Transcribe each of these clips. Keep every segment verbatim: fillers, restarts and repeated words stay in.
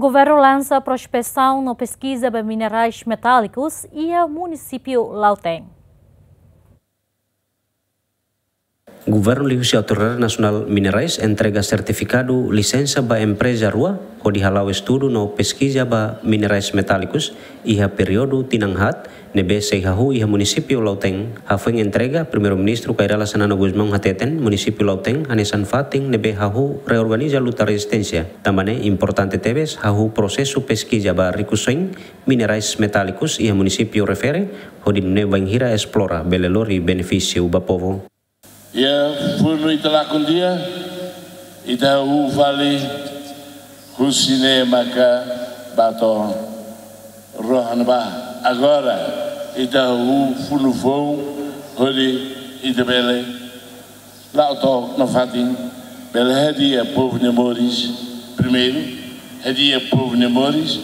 Governu lansa prospesaun no peskiza ba minerais metálikus iha munisípiu Lautém. Governu liuhusi Autoridade Nasionál Minerais entrega sertifikadu lisensa ba empreza rua hodi hala'o estudu no peskiza ba minerais metálikus iha períodu tinan haat, ne'ebé sei hahú iha munisípiu Lautém. Hafoin entrega, Primeiru-Ministru Kay Rala Xanana Gusmão hateten, munisípiu Lautém hanesan fatin ne'ebé hahú reorganiza luta rezisténsia. Tanba ne'e importante tebes hahú prosesu peskiza ba rikusoin minerais metálikus iha munisípiu refere, hodi nune'e bainhira esplora bele lori benefísiu ba povu. Iha funu ita lakon tiha, ita hahú fali husi ne'e maka bá to'o rohan ba. Agora, ita hahú funu foun, hodi ita bele la'o to'o nafatin, bele hadi'a povu nia moris, primeiru, hadi'a povu nia moris,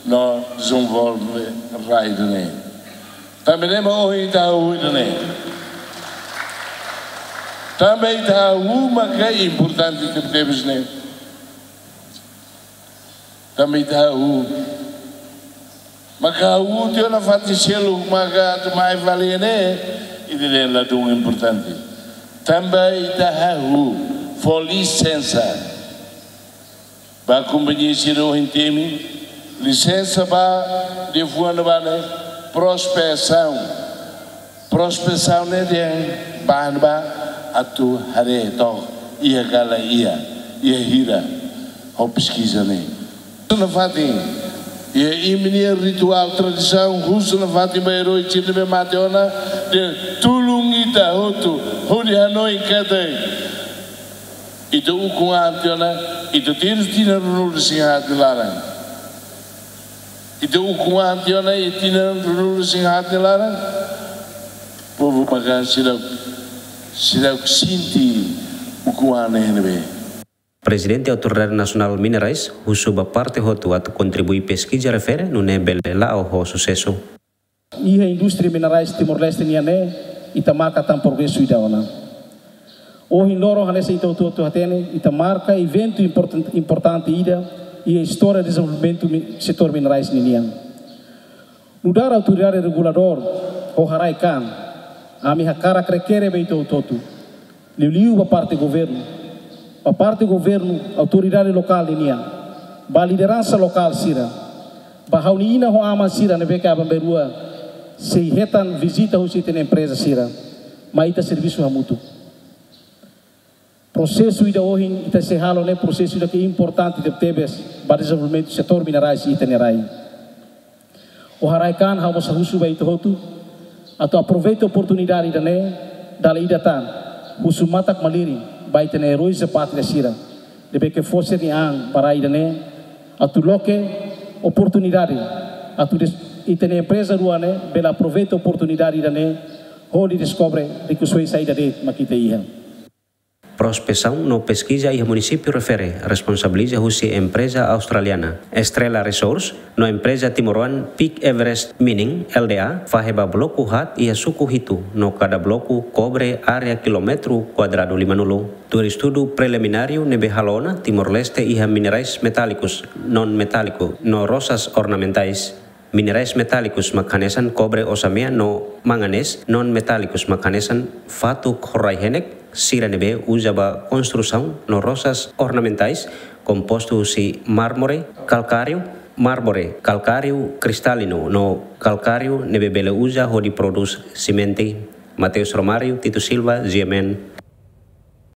no dezenvolve rai ida-ne'e. Tanba ne'e mak ohin ita hahú ida-ne'e. Tanba ita hahú maka importante tebetebes ne'e. Tanba ita hahú. Maka hahú tiha ona fatin seluk maka atu mai fali ne'e, ida-ne'e ladún importante. Tanba ita hahú fó lisensa ba kompañia sira ohin temi, lisensa ba liafuan ba ne'e prospesaun. Prospesaun ne'e dehan ba ne'ebá atu haree took iha ka lae, iha hira ho peskiza ne'e. Husu nafatin, iha imi-nia rituál tradisaun, husu nafatin ba eroi sira ne'ebé mate ona, dehan tulun ita hotu hodi hanoin katak ita ukun an tiha ona, ita tinan ruanulu-resin-haat nia laran. Ita ukun an tiha ona iha tinan ruanulu-resin-haat nia laran. Povu maka seidauk, seidauk sente ukun an ne'e iha ne'ebé. Prezidente Autoridade Nasionál Minerais husu ba parte hotu atu kontribui peskiza refere nune'e bele la'o ho susesu. Iha indústria minerais Timor-Leste nian ne'e, ita marka tan progresu ida ona. Ohin loron hanesan ita hotu-hotu hatene, ita marka eventu importan-, importante ida iha istória dezenvolvimentu mi-, setór minerais ninian. Nu'udar autoridade reguladór ho haraik an, ami hakarak rekere ba ita hotu-hotu. Liuliu ba parte governu, ba parte governu, autoridade lokál ninian, ba lideransa lokál sira, ba ha'u-nia inan ho aman sira ne'ebé ke aban-bainrua sei hetan vizita husi ita-nia empreza sira, mai ita servisu hamutuk. Prosesu ida ohin ita sei halo ne'e prosesu ida ke importante tebetebes ba dezenvolvimentu setór minerais iha ita-nia rai. Ho haraik an ha'u mós husu ba ita hotu atu aproveita oportunidade ida-ne'e, dala ida tan, husu matak-malirin ba ita-nia eróis da pátria sira ne'ebé ke fó sira-nia an ba rai ida-ne'e, atu loke oportunidade, atu des-, ita-nia empreza rua ne'e bele aproveita oportunidade ida-ne'e hodi deskobre rikusoin saida de'it mak ita iha. Prospesaun no peskiza iha munisípiu refere responsabiliza husi empreza australiana Estrela Resource no empreza timoroan Peak Everest Mining L D A fahe ba bloku haat iha suku hitu no kada bloku kobre área kilómetru kuadradu limanulu. Tuir estudu prelimináriu ne'ebé halo ona, Timor-Leste iha minerais metálikus, non-metáliku no rosas ornamentais. Minerais metálikus mak hanesan kobre osamea no manganés, non-metálikus mak hanesan fatuk ho rai-henek, sira ne'ebé uza ba konstrusaun no rosas ornamentais, kompostu husi mármore kalkáriu, mármore kalkáriu kristalinu no kalkáriu ne'ebé bele uza hodi prodús simente. Mateus Romário, Tito Silva, G M N.